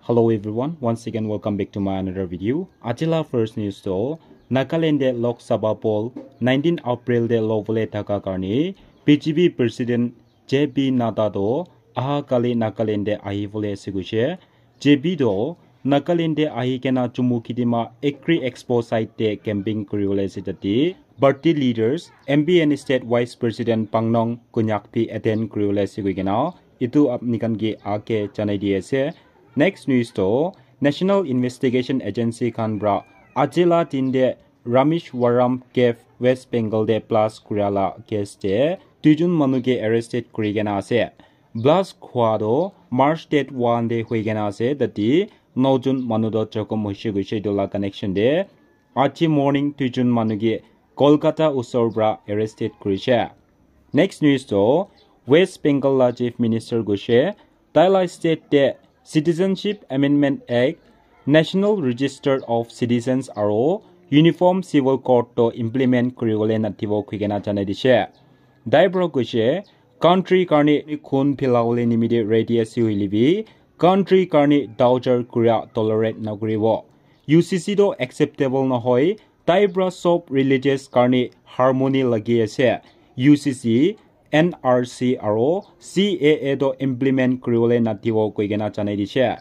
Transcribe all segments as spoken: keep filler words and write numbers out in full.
Hello everyone, once again welcome back to my another video. Aji la first news to Nagaland de Lok Sabha poll nineteen April de lobole thaka karne B J P President J P Nadda to aha kali Nagaland de ahi bole ase koise. J P to Nagaland de ahi kena Chumukedima Agri Expo site de camping kuri bole ase tate. Party leaders, M P and State Vice President Pangnong Konyak bi attend kuri bole ase koi kena. Itu apni khan ke ake janai di ase. Next news to National Investigation Agency khan pra aji la din de Rameshwaram Cave West Bengal de blast kura la case de duijun manu ke arrested kuri kena ase. Blast khwa do March date one de hui kena ase. Tate nojun manu do jokhom hoise koise itu la connection de. Aji morning duijun manu ke Kolkata usor pra arrested kurise. Next news to West Bengal la Chief Minister goise taila state te Citizenship Amendment Act, National Register of Citizens aro Uniform Civil Code to implement kuribole natibo khuikena janai dise. Tai pra koise country karne khun philabole nimite ready ase hoile bi country karne torture kuria tolerate nakuribo. U C C to acceptable nohoi. Tai pra sob religious karne harmony lagi ase. U C C, N R C aro C A A to implement kuribole natibo koikena janai dise.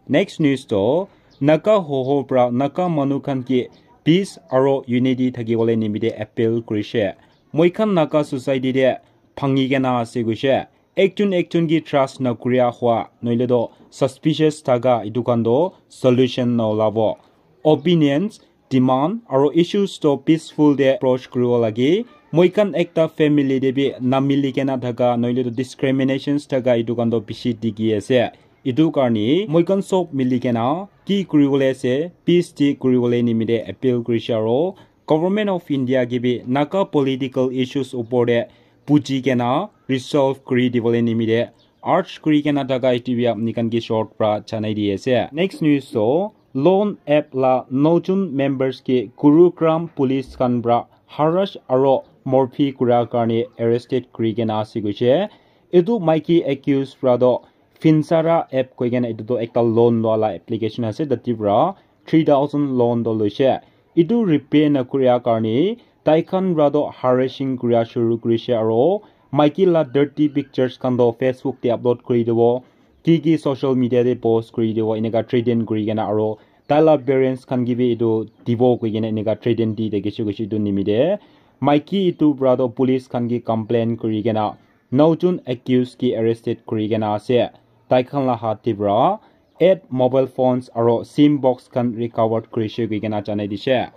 Next news to Naga hoho pra Naga manu khan ke peace aro unity thakibole nimite appeal kurise. Moikhan Naga society te bhangi kena ase koise. Ekjon ekjon ke trust nakuria hua noile to suspicious thaka itu khan to solution na olabo. Opinions, demand aro issues to peaceful de approach kuribo lage. Moikhan ekta family de bi namili kena thaka noile to discriminations thaka itu khan to bishi dikhi ase. Itu karne moikhan sob mili kena ki kuribole ase, peace de kuribole nimite appeal kurise aro Government of India ke bi Naga political issues upor de buji kena resolve kuri dibole nimite urge kuri kena thaka itu bi apni khan ke short pra janai di ase. Next news to loan app la nojun members ke Gurugram police khan pra harass aro morphi kura karne arrested kuri kena ase koise. Itu maiki accused pra to Finsara app koi kena itu to ekta loan loa la application ase, tate pra three thousand loan to loise. Itu repay nakuria karne tai khan pra to harassing kuria shuru kurise aro maiki la dirty pictures khan to Facebook te upload kuri dibo, ki ki social media te post kuri dibo, eneka threaten kuri kena aro tai la parents khan ke bi itu dibo koi kena eneka threaten di thakise koise itu nimite. Maiki itu pra to police khan ke complain kuri kena nojun accused ke arrested kuri kena ase. Tai khan la hat te pra eight mobile phones aro sim box khan recovered kurise koi kena janai dise.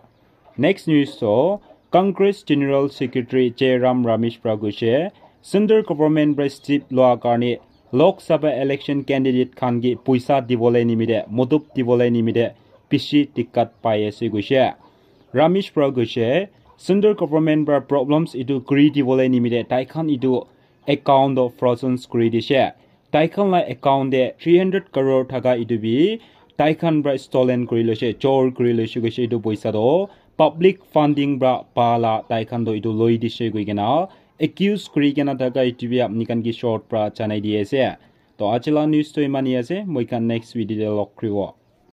Next news to Congress General Secretary Jairam Ramesh pra koise Central Government pra step loa karne Lok Sabha election candidate khan ke poisa dibole nimite, modop dibole nimite bishi dikkat pai ase koise. Ramesh pra koise Central Government pra problems itu kuri dibole nimite tai khan itu account to frozen kuri dise. Tai khan la account te three hundred crore thaka itu bi tai khan pra stolen kuri loise, chor kuri loise koise itu poisa to public funding pra pa la tai khan to itu loi dise koi kena accuse kuri kena thaka itu bi apni khan ke short pra janai di ase. To aji la news to imani ase, moikhan next video te log kuribo.